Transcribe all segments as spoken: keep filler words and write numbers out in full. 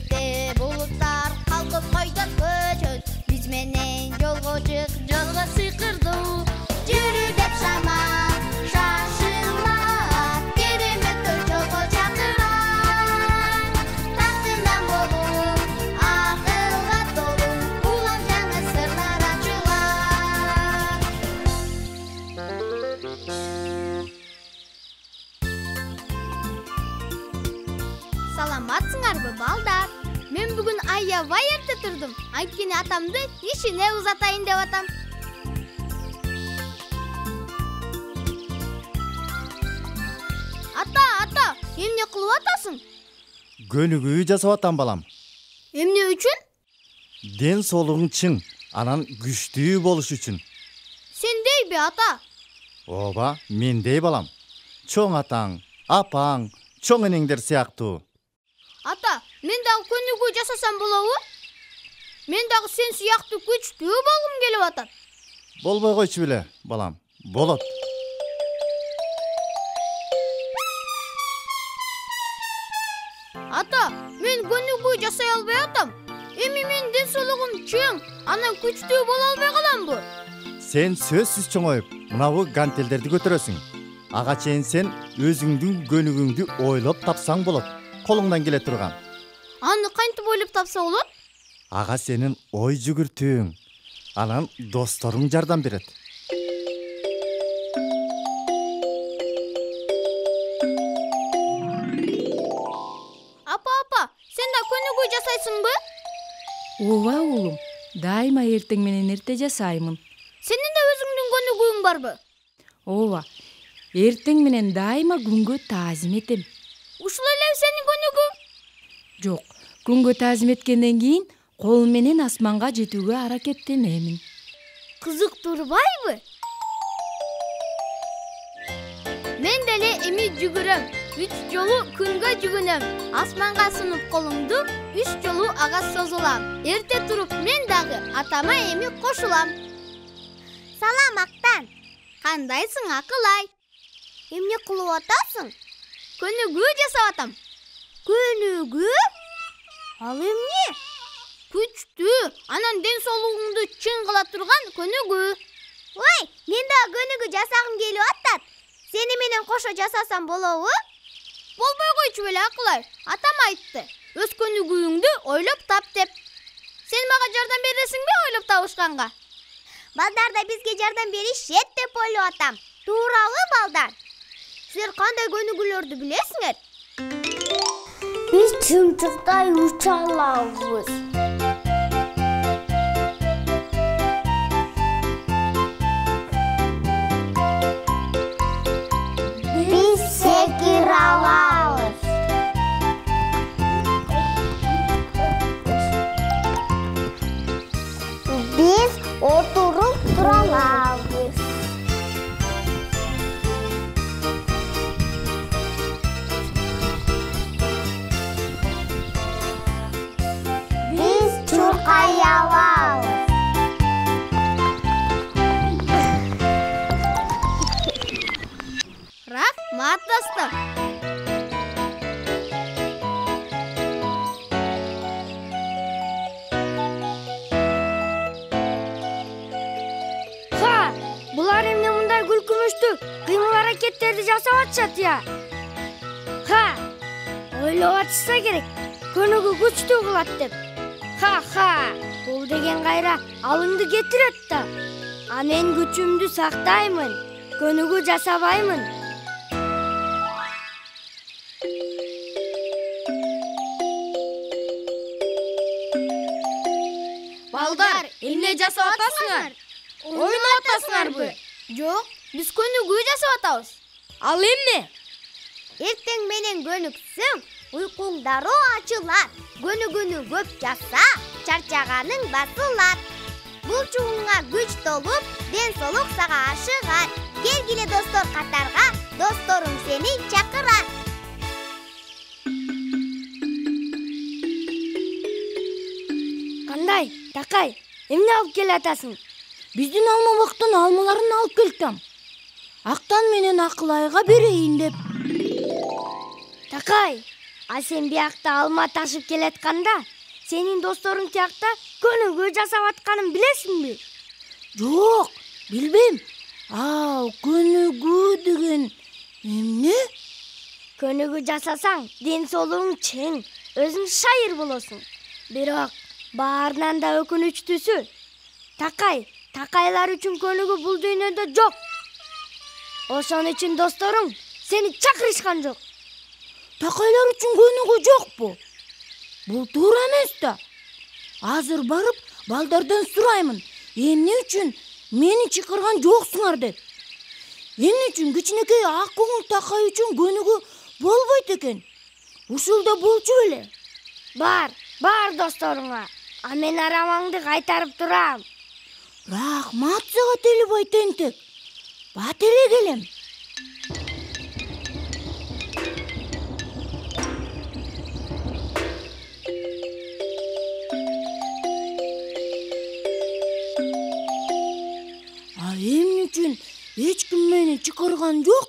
Көктө булуттар калкып койдот көчөт. Биз менен жолго чык, жолго сыйкырдуу. Жүрү деп шамал, шашылма. Кереметтер жолго чакырат. Тактынан болуп, акылга толуу. Улам жаңы сырлар ачылат. Саламатсыңарбы, балдар? Мен бүгүн аябай эрте турдум. Анткени атамды ишине узатайын деп атам. Ата, ата, эмне кылып атасың? Көнүгүү жасап атам, балам. Эмне үчүн? Ден соолугуң чың, анан күчтүү болуш үчүн. Сендейби, ата? Ооба, мендей, балам. Чоң атаң, апаң, чоң энеңдер сыяктуу. Ата, мен дагы көнүгүү жасасам болобу? Мен дагы сен сыяктуу күчтүү болгум келип атат. Болбой койчу беле, балам. Болот. Ата, мен көнүгүү жасай албай атам. Эми менин ден соолугум чың, анан күчтүү боло албай каламбы? Сен сөзсүз чоңоюп, мынабу гантелдерди көтөрөсүң. Ага чейин сен өзүңдүн көнүгүүңдү ойлоп тапсаң болот. Колуңдан келе турган. Аны кантип ойлоп тапса болот? Ага сенин ой жүгүртүүң. Анан досторуң жардам берет. Апа, апа, сен да көнүгүү жасайсыңбы? Ооба уулум, дайыма эртең менен эрте жасаймын. Сенин да өзүңдүн көнүгүүң барбы? Ооба, эртең менен дайыма күнгө таазим этем. Ушул элеби сенин көнүгүү? Жок, күнгө таазим эткенден кийин кол менен асманга жетүүгө аракеттенемин. Кызык турбайбы? Мен деле эми жүгүрөм. Үч жолу күнгө жүгүнөм. Асманга сунуп колумду, үч жолу ага созулам. Эрте туруп мен дагы атама эми кошулам. Салам, Актан. Кандайсың, Акылай? Эмне кылып атасың? Көнүгүү жасап атам. Көнүгүү? Ал эмне? Күчтүү, анан ден соолугуңду чың кыла турган көнүгүү. Ой, мен да көнүгүү жасагым келип атат. Сени менен кошо жасасам болобу? Болбой койчу беле, Акылай. Атам айтты. Өз көнүгүүңдү ойлоп тап деп. Сен мага жардам бересиңби ойлоп табышканга? Балдар да бизге жардам беришет деп ойлоп атам. Туурабы, балдар? Силер кандай көнүгүүлөрдү билесиңер? Биз чымчыктай уча алабыз. Биз секире алабыз. Биз отуруп тура алабыз. Биз чуркай алабыз. Рахмат, достор. Ха, булар эмне мындай күлкүмүштүү кыймыл-аракеттерди жасап атышат я? Ха, ойлоп атышса керек, көнүгүү күчтүү кылат деп. Ха-ха, бул деген кайра алыңды кетирет да. А мен күчүмдү сактаймын, көнүгүү жасабаймын. Балдар, эмне жасап атасыңар? Ойноп атасыңарбы? Жок, биз көнүгүү жасап атабыз. Ал эмне? Эртең менен көнүксөң, уйкуң дароо ачылат. Көнүгүүнү көп жаса, чарчаганың басылат. Булчугуңа күч толуп, ден соолук сага ашыгат. Келгиле достор катарга, досторуң сени чакырат. Кандай, Такай, эмне алып келатасың? Биздин алма бактын алмаларын алып келдим. Актан менен Акылайга берейин деп. Такай, А сен биякта алма ташып келатканда сенин досторуң тиякта көнүгүү жасап атканын билесиңби? Жок, билбейм. А, көнүгүү деген эмне? Көнүгүү жасасаң ден соолугуң чың, өзүң шайыр болосуң. Бирок баарынан да өкүнүчтүүсү, такай, такайлар үчүн көнүгүү бул дүйнөдө жок. Ошон үчүн досторуң сени чакырышкан жок. Такайлар үчүн көнүгүү жокпу? Бул туура эмес да. Азыр барып балдардан сураймын, эмне үчүн мени чакырган жоксуңар деп. Эмне үчүн кичинекей ак көңүл такай үчүн көнүгүү болбойт экен? Ушул да болчу беле? Бар, бар досторуңа. А мен арамаңды кайтарып турам. Рахмат сага Телебай тентек. Бат эле келем. А эмне үчүн эч ким мени чакырган жок?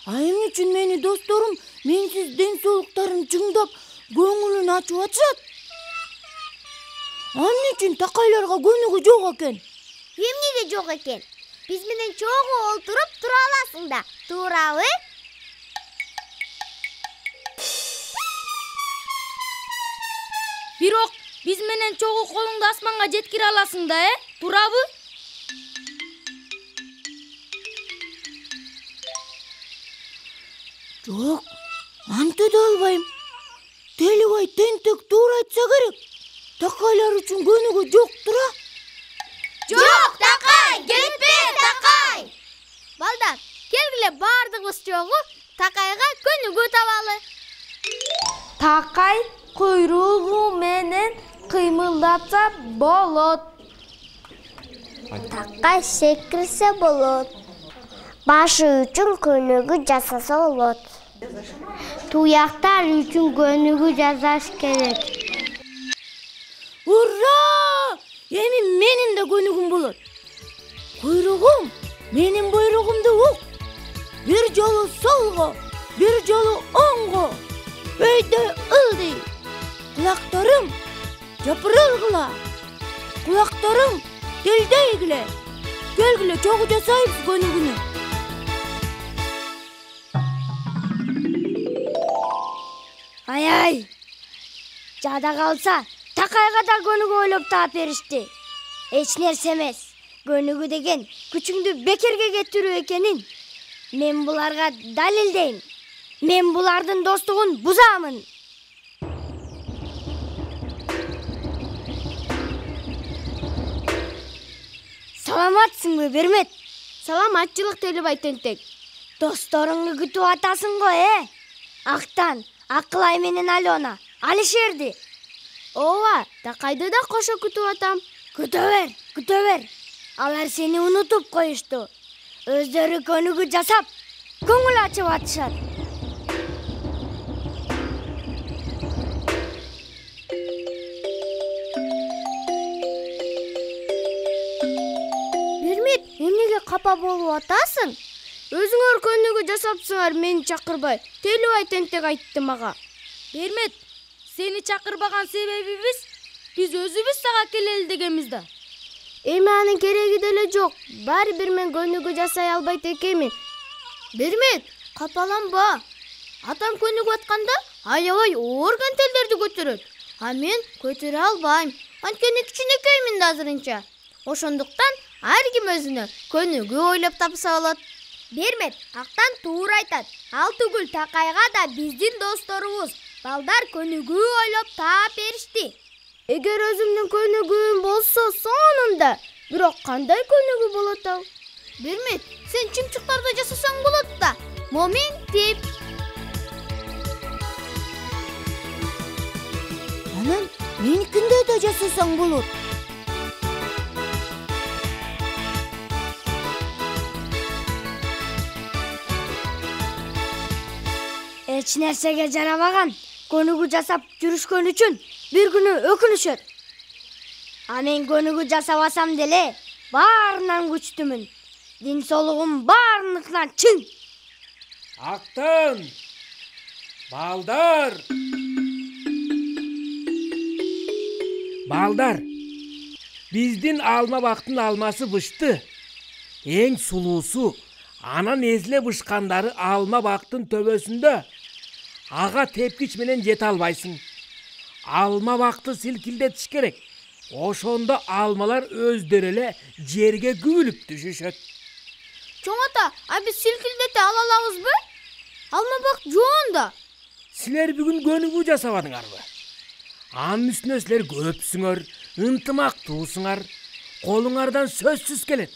А эмне үчүн мени досторум менсиз ден соолуктарын чыңдап көңүлүн ачып атышат? Эмне үчүн такайларга көнүгүү жок экен? Эмнеге жок экен? Биз менен чогуу олтуруп тура аласың да, туурабы? Бирок биз менен чогуу колуңду асманга жеткире аласың да, э? Туурабы? Жок, антө да албайм. Телебай тентек туура айтса керек. Такайлар үчүн көнүгүү жок тура. Жок, такай, кетпе, такай. Балдар, келгиле бардыгыбыз чогуу такайга көнүгүү табалы. Такай куйругу менен кыймылдатса болот. Такай секирсе болот. Башы үчүн көнүгүү жасаса болот. Туяктар үчүн көнүгүү жасаш керек. Ура! Эми менин да көнүгүм болот. Куйругум, менин буйругумду ук. Бир жолу солго, бир жолу оңго. Өйдө ылдый. Кулактарым жапырылгыла. Кулактарым делдейгиле. Келгиле чогуу жасайбыз көнүгүүнү. Ай-ай. Жада калса, такайга да көнүгүү ойлоп таап беришти. Эч нерсе эмес. Көнүгүү деген күчүңдү бекерге кетирүү экенин мен буларга далилдейм. Мен булардын достугун бузамын. Саламатсыңбы, Бермет? Саламатчылык, Телебай тентек. Досторуңду күтүп атасың го, э? Актан, Акылай менен Алена, Алишерди. Ооба, такайды да кошо күтүп атам. Күтө бер, күтө бер. Алар сени унутуп коюшту. Өздөрү көнүгүү жасап, көңүл ачып атышат. Бермет, эмнеге капа болуп атасың? Өзүңөр көнүгүү жасапсыңар, мени чакырбай. Телебай тентек айтты мага. Бермет, сени чакырбаган себебибиз биз өзүбүз сага келели дегенбиз да. Эми анын кереги деле жок. Баары бир мен көнүгүү жасай албайт экенмин. Бермет, капаланба. Атам көнүгүп атканда аябай оор кантелдерди көтөрөт. А мен көтөрө албайм. Анткени кичинекеймин да азырынча. Ошондуктан ар ким өзүнө көнүгүү ойлоп тапса болот. Бермет, актан туура айтат. Ал түгүл такайга да биздин досторубуз балдар көнүгүү ойлоп таап беришти. Эгер өзүмдүн көнүгүүм болсо сонунда, бирок кандай көнүгүү болот ал? Бермет, сен чымчыктарды жасасаң болот да. Моментип. Анан меникинде да жасасаң болот. Эч нерсеге жарабаган көнүгүү жасап жүрүшкөн үчүн бир күнү өкүнүшөт. А мен көнүгүү жасабасам деле баарынан күчтүмүн. Ден соолугум баарыныкынан чың. Актан! Балдар! Балдар! Биздин алма бактын алмасы бышты. Эң сулуусу, анан эзиле бышкандары алма бактын төбөсүндө. Ага тепкич менен жете албайсың. Алма бакты силкилдетиш керек. Ошондо алмалар өздөрү эле жерге күбүлүп түшүшөт. Чоң ата, а биз силкилдете ала алабызбы? Алма бак жоон да. Силер бүгүн көнүгүү жасабадыңарбы? Анын үстүнө силер көпсүңөр, ынтымактуусуңар. Колуңардан сөзсүз келет.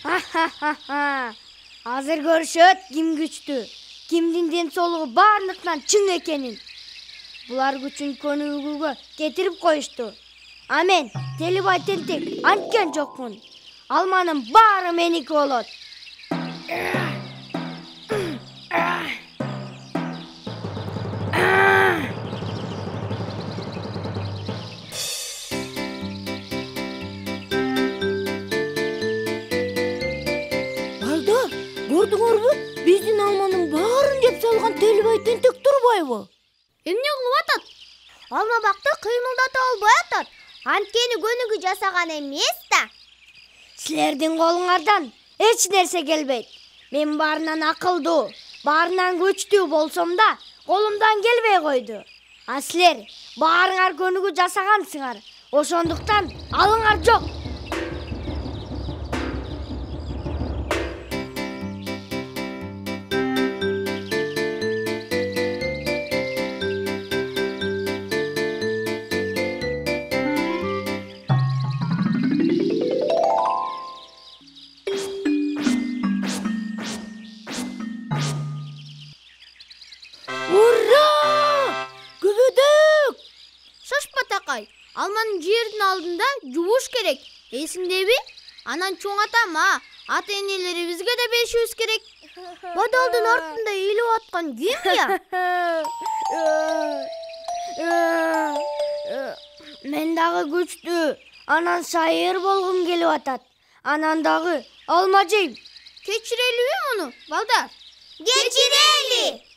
Ха-ха-ха. Азыр көрүшөт ким күчтүү, кимдин ден соолугу баардыктан чың экенин. Булар күчүн көнүгүүгө кетирип коюшту. А мен Телибай тентек анткен жокмун. Алманын баары меники болот. Балдар, көрдүңөрбү? Биздин алманын баарын жеп салган Телибай тентек турбайбы? Эмне кылып атат? Алма бакты кыймылдата албай атат. Анткени көнүгүү жасаган эмес да. Силердин колуңардан эч нерсе келбейт. Мен баарынан акылдуу, баарынан күчтүү болсом да, колумдан келбей койду. А силер баарыңар көнүгүү жасагансыңар. Ошондуктан алыңар жок. Алманын жердин алдында жубуш керек. Эсиңдеби? Анан чоң атама, ата энелерибизге да беришибиз керек. Бадалдын артында ыйлап аткан ким я? Мен дагы күчтүү, анан шайыр болгум келип атат. Анан дагы алма жейм. Кечирелиби муну, балдар? Кечирели.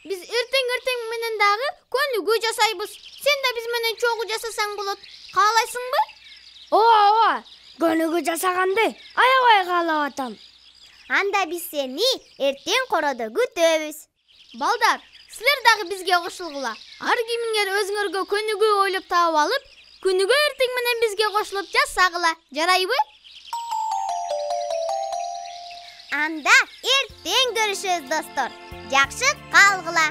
Биз эртең-эртең менен дагы көнүгүү жасайбыз. Сен да биз менен чогуу жасасаң болот. Каалайсыңбы? Ооба, ооба. Көнүгүү жасаганды аябай каалап атам. Анда биз сени эртең короодо күтөбүз. Балдар, силер дагы бизге кошулгула. Ар кимиңер өзүңөргө көнүгүү ойлоп таап алып, күнүгө эртең менен бизге кошулуп жасагыла. Жарайбы? Анда эртең көрүшөбүз, достор. Жакшы калгыла.